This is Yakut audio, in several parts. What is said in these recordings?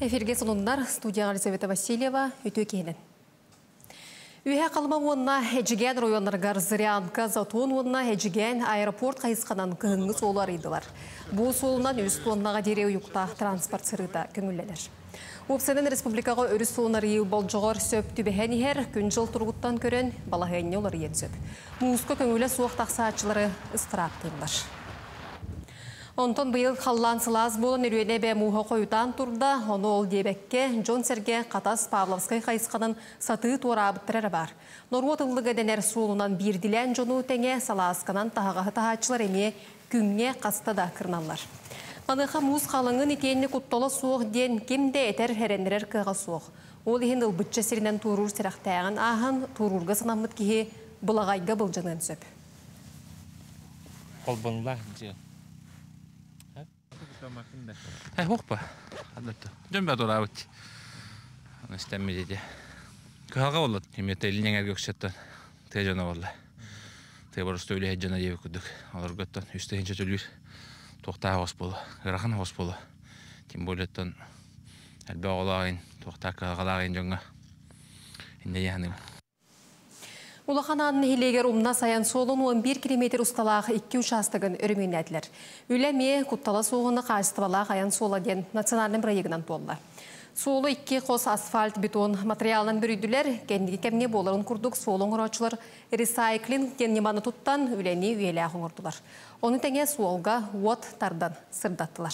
Эфиргэ сонуннар студияҕа Елизавета Васильева үтүө киһинэн. Үөһэ Халыма уонна Эдьигээн оройуоннарыгар Зырянка, Затон уонна Эдьигээн аэропорт хайысханан кыһыҥҥы суолу арыйдылар. Бу суолунан үс туоннаҕа диэри уйуктаах транспорт сырыыта көҥүллэнэр. Уопсайынан республикаҕа өрүс суолун арыйыы болдьоҕор сөп түбэһэн иһэр, күн-дьыл туругуттан көрөн балаһыанньа уларыйыан сөп. Мууска көҥүлэ суох тахсааччылары ыстырааптыыллар. Онтон быйыл халлаан сылаас буолан Өлүөнэ эбэ мууһа хойутаан турда, ону ол диэбэккэ, дьон-сэргэ Хатас Павловскай хайысханан сатыы туораабыттара эрэ баар. Норуот ыллыга дэнэр суолунан биирдилээн дьону тэҥэ салаасканан таһаҕаһы таһааччылар эмиэ күҥҥэ хаста да кырналлар. Маныаха муус халыҥын итиэннэ куттала суох диэн ким да этэр, эрэннэрэр кыаҕа суох. Ол иһин ылбычча сиринэн туоруур сэрэхтээҕин ааһан, туоруурга санаммыт киһи былаҕайга былдьаныан сөп. Холбонулаах дьиэ. Э, хоппа. Дьон бә тураабыт. Истэммит ити. Кыһалҕа болла. Имете илин эҥэргэ өксөттөн тыа дьоно болла. Тыа боростуой үлэһит дьоно диэбит курдук. Олорготтон үс тыһыынча төлүүр туохтаах оҕус буолла. Ыарахан оҕус буолла. Тем более оттон элбэх оҕолоох ин, туохтаах кыһалҕалаах ин дьоҥҥо иннэ дии Улахан Аан нэһилиэгэр умнас айан суолун 11 километр усталаах икки учаастагын өрөмүөннээтилэр. Үлэ эмиэ куттала суоҕуна хаачыстыбалаах айан суола диэн национальнай бырайыагынан туолла. Суолу икки хос асфальт бетон материалынан бүрүйдүлэр. Кэнники кэмҥэ буоларын курдук суолу оҥорооччулар ресайклинг диэн ньыманы туттан үлэни үйэлээх оҥордулар. Ону тэҥэ суолга уот тардан сырдаттылар.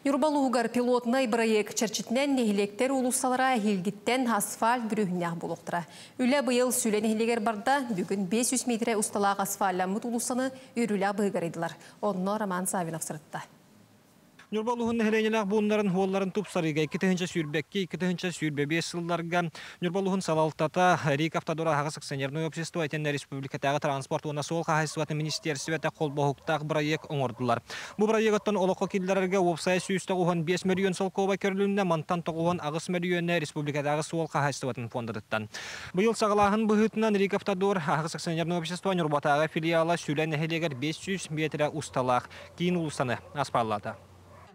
Ньурба улууһугар пилотнай бырайыак чэрчитинэн нэһилиэктэр уулуссалара эһиилгиттэн асфальт бүрүөһүннээх буолуохтара. Үлэ быйыл Сүлэ нэһилиэгэр барда. Бүгүн 500 миэтэрэ усталаах асфальламмыт уулуссаны үөрүүлээх быһыыга арыйдылар. Онно Роман Саввинов сырытта. Ньурба улууһун нэһилиэнньэлээх бууннарын уолларын тупсарыыга 2022 2025 сылларга Ньурба улууһун салалтата РИК Автодор аһаҕас акционернай общество итиэннэ республикатааҕы транспорт уонна суол хаһаайыстыбатын министиэрстибэтэ холбоһуктаах бырайыак оҥордулар. Бу бырайыагыттан олоххо киллэрэргэ уопсайа 195 мөлүйүөн солкуобай көрүлүннэ, мантан 98 мөлүйүөнэ республикатааҕы суол хаһаайыстыбатын фондатыттан. Быйыл саҕалааһын быһыытынан Рикавтодор аһаҕас акционерное общество Ньурбатааҕы филиала Сүлэ нэһилиэгэр 500 миэтэрэ усталаах киин уулуссаны аспааллаата.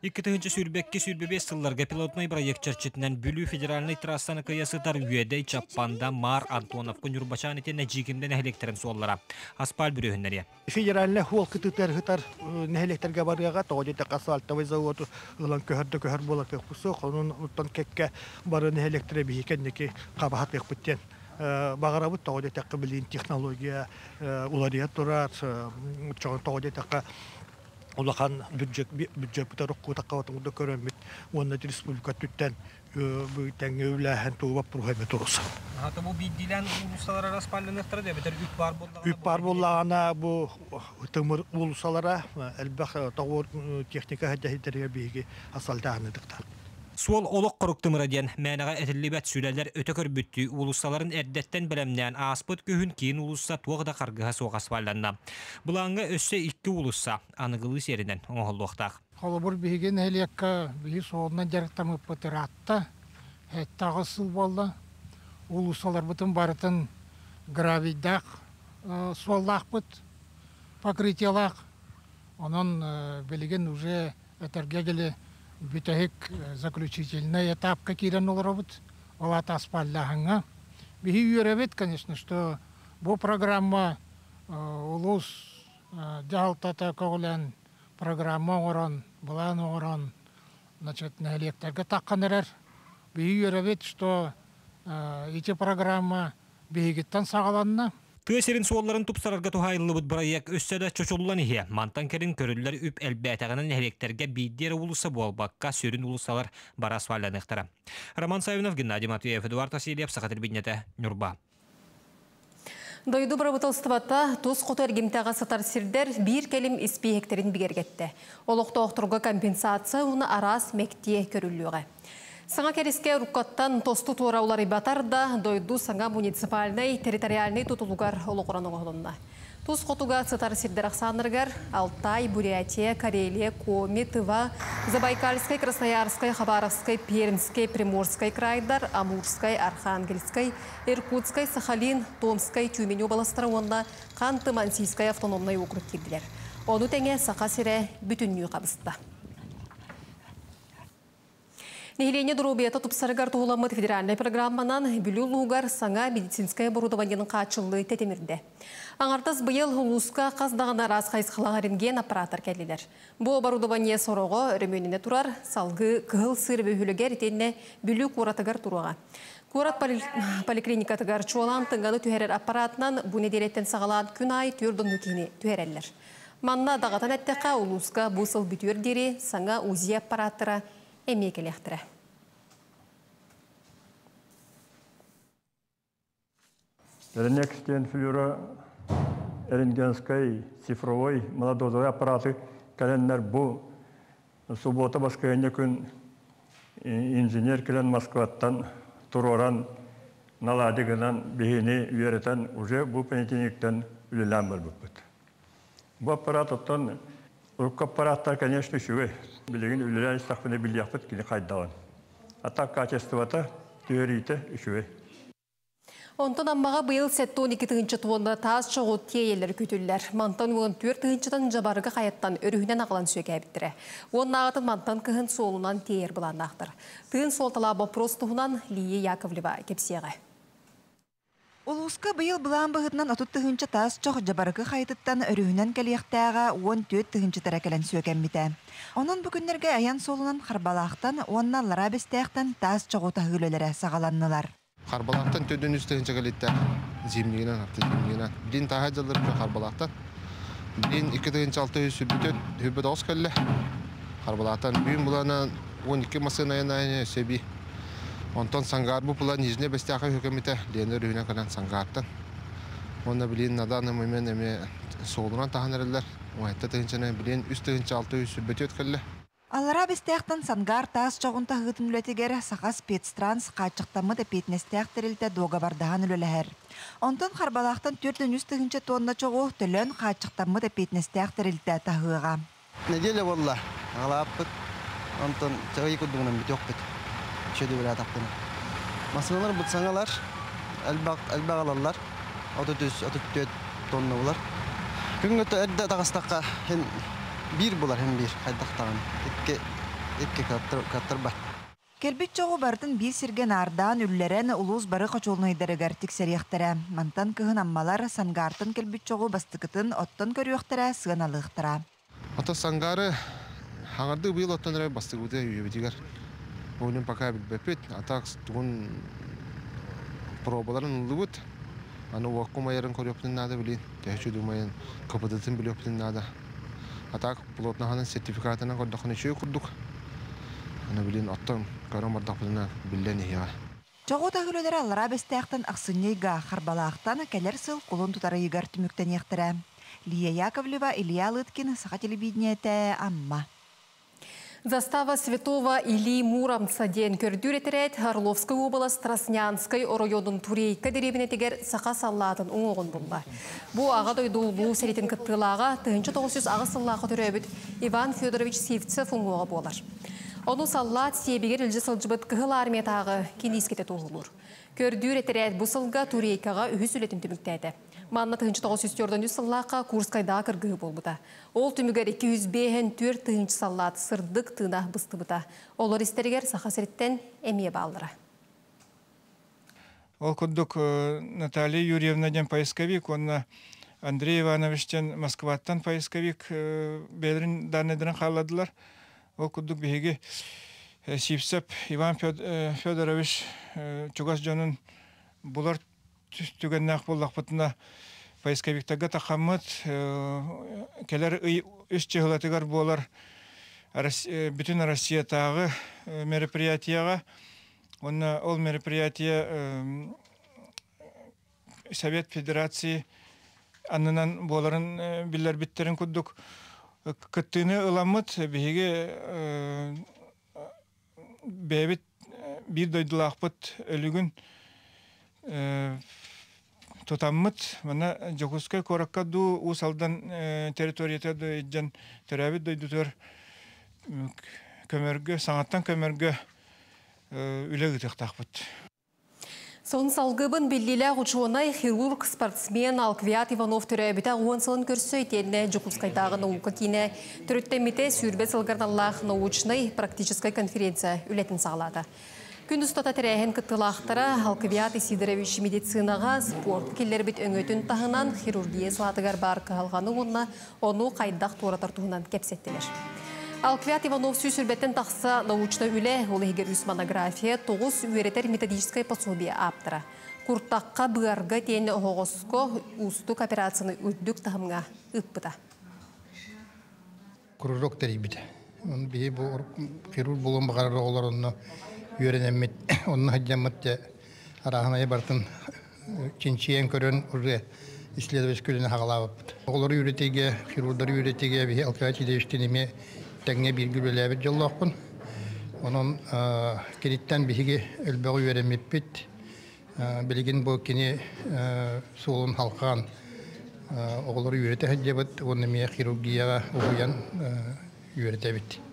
2022-25 сылларга пилотнай проект чэрчитинэн Бүлүү федеральнай трассаны кыйа сытар Үөдэй, Чаппанда, Маар, Антоновка, Ньурбачаан итиэннэ Дьиикимдэ нэһилиэктэрин суоллара аспаал бүрүөһүннэриэ. Федеральнай суол кытыытыгар сытар нэһилиэктэргэ барыаҕа, тоҕо диэтэххэ асфальтовай заводу ылан көһөр да көһөр буолар кыахпыт суох. Онон оттон кэккэ бары нэһилиэктэрэ биһи кэнники хабаһатыахпыт диэн баҕарабыт. Тоҕо диэтэххэ билигин технология уларыйа турар. Тоҕо диэтэххэ улахан бюджет бюджеппытыгар уккуутахха көрөммүт уонна республика өттүттэн тэҥҥэ үлээһин тугу боппуруоһа эмэ туруса. Аата бу биирдиилээн уулуссалара распалланыахтара да эбэтэр үп баар буоллаҕына Үп баар буоллаҕына бу тымыр уулуссалара элбэх тоҕуор техника сылдьар биһиги асфальтааһыныдыктар. Суол олох хорук тымыра диэн мээнэҕэ этиллибэт сүлэлэр өтө көрбүттүү уулуссаларын эрдэттэн бэлэмнээн ааспыт күһүн киин уулусса туох да харгыһа суох асфальланна. Былааҥҥа өссө икки уулусса аныгылыы сиэринэн оҥоһуллуохтаах. Холобур, биһиги нэһилиэккэ биһи суолунан дьарыктаммыппыт ыраатта, 7-8 сыл буолла. Уулуссаларбытын барытын гравийдаах суоллаахпыт, покрытиелаах. Онон билигин уже этэргэ дылы бүтэһик заключительный этапка киирэн олоробут. Ол аата аспааллааһыҥҥа. Биһи үөрэбит, конечно, что бу программа улуус дьаһалтата көҕүлээн программа оҥорон, былаан оҥорон, значит, нэһилиэктэргэ таххан эрэр. Биһи үөрэбит, что ити программа биһигиттэн саҕаланна. Тыа сирин суолларын тупсарарга туһаайыллыбыт бырайыак өссө да чочуллан иһиэ. Мантан кэлин көрүллэр үп элбээтэҕинэн нэһилиэктэргэ биирдии эрэ уулусса буолбакка, сүрүн уулуссалар бары асфальданыахтара. Роман Саввинов, Геннадий Матвеев, Эдуард Васильев, Саха телевидениетэ, Ньурба. Дойду бырабыыталыстыбата тус хоту эргимтэҕэ сытар сирдэр биир кэлим испииһэктэрин бигэргэттэ. Олохтоохторго компенсация уонна араас мэктиэ көрүллүөҕэ. Саҥа кэрискэ уруккаттан тосту туора уларыйбатар да, дойду саҥа муниципальнай территориальнай тутулугар олоҕуран оҥоһулунна. Тус хотуга сытар сирдэр ахсааннарыгар Алтай, Бурятия, Карелия, Коми, Тыва, Забайкальскай, Красноярскай, Хабаровскай, Пермскэй, Приморскай крайдар, Амурскай, Архангельскай, Иркутскай, Сахалин, Томскай, Тюмень уобаластара уонна Ханты-Мансийскай автономнай округ киирдилэр. Ону тэҥэ Саха сирэ бүтүннүү хабыста. Нэһилиэнньэ доруобуйата тупсарыгар туһуламмыт федеральнай программанан Бүлүү улууһугар саҥа медицинскэй оборудованиенын хааччыллыы тэтимирдэ. Аҥардас быйыл улууска хас даҕаны араас хайысхалаах рентген аппарааттар кэллилэр. Бу оборудование сороҕо өрөмүөннэнэ турар, салгыы Кыһыл Сыыр бөһүөлэгэр итиэннэ Бүлүү куоратыгар туруоҕа. Куорат поликлиникатыгар чуолаан тыҥаны түһэрэр аппаратынан бу нэдиэлэттэн саҕалаан күн аайы 4 оннук киһини түһэрэллэр. Манна даҕатан эттэххэ, улууска бу сыл бүтүөр диэри саҥа УЗИ аппараттара эмиэ кэлиэхтэрэ. Ренекс диэн флюро рентгенскай цифровой молодозовый аппараты кэлэннэр бу суббота баскыһыанньа күн инженер кэлэн Москваттан туруоран налади гынан биһини үөрэтэн уже бу понедельниктан үлэлээн барбыппыт. Бу аппарат оттон урукку аппараттар, конечно, үчүгэй. Билигин үлэлээн истэхпинэ билиэхпит кини хайдаҕын. А так качествота, түһэриитэ үчүгэй. Онтон Аммаҕа быйыл 72 тыһыынча туонна таас чоҕу тиэйэллэр күүтүллэр. Мантан 14 тыһыынчатын Дьабарыкы Хайаттан өрүһүнэн аҕалан сүөкээбиттэрэ. Уоннааҕытын мантан кыһын суолунан тиэйэр былааннаахтар. Тыын суолталаах боппуруос туһунан Лия Яковлева кэпсиэҕэ. Улууска быйыл былаан быһыытынан 30 тыһыынча таас чох Дьабарыкы Хайатыттан өрүһүнэн кэлиэхтээҕэ 14 тыһыынча кэлэн сүөкэммитэ. Онон бу күннэргэ айан суолунан Харбалаахтан уонна Аллараа Бэстээхтэн таас чоҕу таһыы үлэлэрэ саҕаланнылар. Харбалаахтан 403 тыһыынча кэлиттэ зимнигинэн, арты зимнигинэн. Билин тааһа дьаллар Харбалаахтан. Билин 2 тыһыынча 600 сүрбүтөт, хүббөт оҕус кэллэ. Харбалаахтан бүгүн булана 12 массыына айанайын сөби. Онтон Сангаар бу була Нижний Бэстээхэ хүкэмите Лена өрүһүнэн кэлэн Сангаартан. Онно билин на данный момент эми суолунан таһан эрэллэр. 17 тыһыынчаны билин 3 тыһыынча 600 сүрбөтөт кэллэ. Аллараа Бэстээхтэн Сангаар таас чоҕун таһыытын үлэтигэр Саха спецтранс хааччахтаммыт эппиэтинэстээх тэрилтэ дуогабардаһан үлэлэһэр. Онтон Харбалаахтан 403 тыһыынча тонна чоҕу Төлөн хааччахтаммыт эппиэтинэстээх тэрилтэ таһыаҕа. Неделя болла. Агалааппыт. Онтон чагай курдугунан бүтүөхпүт. Чөдү билатаппын. Массыыналар бут саҥалар, элбэх элбэх алаллар. 33 34 тонна булар. Күҥҥэ эрдэ таҕыстахха хин биир булар хин биир хайдахтаҕын. Икки икки каттырбат. Кэлбит чоҕу барытын биир сиргэ наардаан үллэрэн улуус бары хочуолунайдарыгар тиксэриэхтэрэ. Мантан кыһын аммалар Сангаартан кэлбит чоҕу бастыкытын оттон көрүөхтэрэ, сыаналыахтара. Ото Сангары хаңарды быйыл оттон эрэ бастыгыбыты үйэбитигэр. Онун пока билбэппит. А так тугун пробаларын ыллыбыт. Аны уокку майарын көрүөхпүтүн наада билин. Төһөчү думайын КПДтын билиэхпитин наада. А так плотно сертификатынан көрдөххүнэ үчүгэй курдук. Аны билин оттон көрөн бардахпытына биллэн иһиэҕэ. Чоҕу таһыы үлэлэрэ Аллараа Бэстээхтэн ахсынньы ыйга, Харбалаахтан кэлэр сыл кулун тутар ыйыгар түмүктэниэхтэрэ. Лия Яковлева, Илья Лыткин, Саха телевидениетэ, Амма. Застава Святого Ильи Муромца диэн көрдүүр этэрээт Орловскай уобалас Траснянскай оройуонун Турейка дэриэбинэтигэр саха саллаатын уҥуоҕун булла. Бу Аҕа дойду Улуу сэриитин кыттыылааҕа 1908 сыллаахха төрөөбүт Иван Федорович Сивцев уҥуоҕа буолар. Ону саллаат сиэбигэр илдьэ сылдьыбыт Кыһыл Армиятааҕы киниискэтэ туоһулуур. Көрдүүр этэрээт бу сылга Турейкаҕа үһүс үлэтин түмүктээтэ. Манна 1943 сыллаахха Курскайдааҕы кыргыһыы буолбута. Ол түмүгэр 254 тыһыынча саллаат сырдык тыына быстыбыта. Олор истэригэр Саха сириттэн эмиэ бааллара. Ол курдук Наталья Юрьевна диэн поисковик уонна Андрей Иванович диэн Москваттан поисковик бэйэлэрин данныйдарын хаалладылар. Ол курдук биһиги Сивцев Иван Федорович чугас дьонун булар түгэннээх буоллахпытына поисковиктарга тахаммыт кэлэр ый үс чыһылатыгар буолар бүтүн Россиятааҕы мероприятияҕа уонна ол мероприятие Совет Федерации аннынан буоларын биллэрбиттерин курдук кыттыыны ыламмыт биһиги бэйэбит биир дойдулаахпыт өлүгүн тутаммыт манна Дьокуускай куоракка дуу Уус Алдан территорията дьон төрөөбүт дойдутугар көмөргө саҥаттан көмөргө үлэ ыытыахтаахпыт. Сон салгыбын биллилээх учуонай, хирург, спортсмен Алквиад Иванов төрөөбүтэ 10 сылын көрсө итиэннэ Дьокуускайдааҕы наука киинэ төрүттэммитэ 20 сылыгар аналлаах научнай практическай конференция үлэтин саҕалаата. Күн устата тэрээһин кыттыылаахтара Алквиад Исидорович медицинаҕа, спортка киллэрбит өҥөтүн таһынан хирургия салаатыгар баар кыһалҕаны уонна ону хайдах туоратар туһунан кэпсэттилэр. Алквиад Иванов 120-тэн тахса научнай үлэ, ол иһигэр үс монография, 9 үөрэтэр методическай пособие ааптара. Куртахха, быарга итиэннэ оһоҕоско уустук операцияны үрдүк таһымҥа ыыппыта. Кружок тэрийбитэ. Оны биһи бу хирург буолуон баҕарар оҕолор онно үөрэнэммит, онно сылдьаммыт дьэ арааһынайы барытын чинчийэн көрөн уже исследовательскай үлэни хаҕалаабыппыт. Оҕолору үөрэтиигэ, хирурдары үөрэтиигэ биһи Алкай Васильевичтыын эмиэ тэҥҥэ бииргэ үлэлээбит дьоллоохпун. Онон киниттэн биһиги элбэҕи үөрэммиппит. Билигин бу кини суолун халҕаан оҕолору үөрэтэ сылдьабыт уонна эмиэ хирургияҕа уһуйан үөрэтэбит.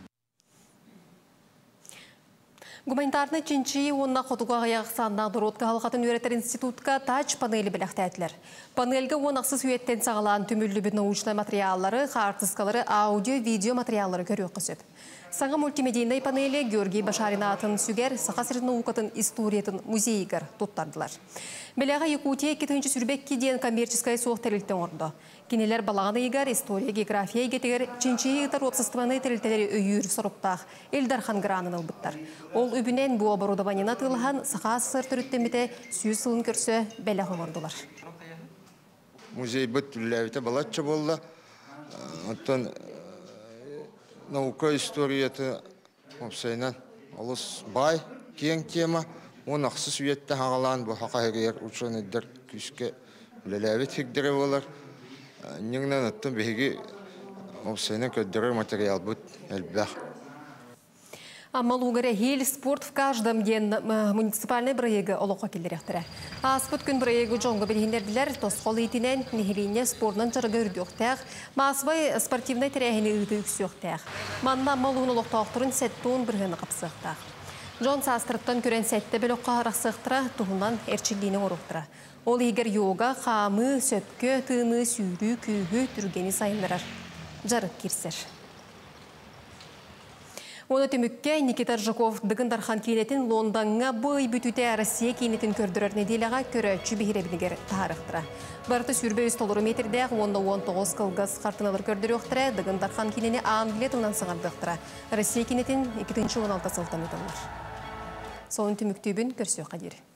Гуманитарнай чинчийии уонна хотугу аҕыйах ахсааннаах норуот кыһалҕатын үөрэтэр институтка тач-панели бэлэхтээтилэр. Панельга 16 үйэттэн саҕалаан түмүллүбүт научнай материаллары, хаартыскалары, аудио-видео материаллары көрүөххэ сөп. Саҥа мультимедийнай панели Георгий Башарин аатын сүгэр Саха сирин наукатын историятын музейыгар туттардылар. Бэлэҕи Якутия 2022 диэн коммерческай суох тэрилтэ оҥордо. Кинилэр балаҕан ыйыгар история, география эйгэтигэр чинчийии ыытар уопсастыбаннай тэрилтэлэри өйүүр соруктаах Ил Дархан гранын ылбыттар. Ол үбүнэн бу оборудованиены атыылаһан Саха АССР төрүттэммитэ 100 сылын көрсө бэлэх оҥордулар. Музейбыт үлэлээбитэ балачча буолла. Оттон наука историята уопсайынан олус баай, киэҥ тема. 16 үйэттэн саҕалаан бу саха сиригэр учуонайдар күүскэ үлэлээбит сирдэрэ буолар. Инньэ оттон биһиги уопсайынан көрдөрөр материалбыт элбэх. Амма улууһугар эһиил «Спорт в каждом» диэн муниципальнай бырайыагы олоххо киллэриэхтэрэ. Ааспыт күн бырайыагы дьоҥҥо билиһиннэрдилэр. Тосхол иитинэн нэһилиэнньэ спордунан дьарыга үрдүөхтээх, маассабай спортивнай тэрээһини ыытыы үксүөхтээх. Манна Амма улууһун олохтоохторун 70 бырыһыана хапсыахтаах. Дьон саастарыттан көрөн сэттэ бөлөххө арахсыахтара, туһунан эрчиллиини оҥоруохтара. Ол иһигэр йога, хаамыы, сөпкө тыыныы, сүүрүү, күүһү, түргэни сайыннарар дьарык киирсэр. Уонна түмүккэ Никита Аржаков Дыгын Дархан киинэтин Лондоҥҥа бу ый бүтүүтэ Россия киинэтин көрдөрөр нэдиэлэҕэ көрөөччү биһирэбилигэр таһаарыахтара. Барыта 23 толору метрдээх уонна 19 кылгас хартыыналар көрдөрүөхтэрэ, Дыгын Дархан киинэни Англия тылынан саҥардыахтара. Россия киинэтин 2016 сылтан ыытыллар. Сонун түмүктүүбүн, көрсүөххэ диэри.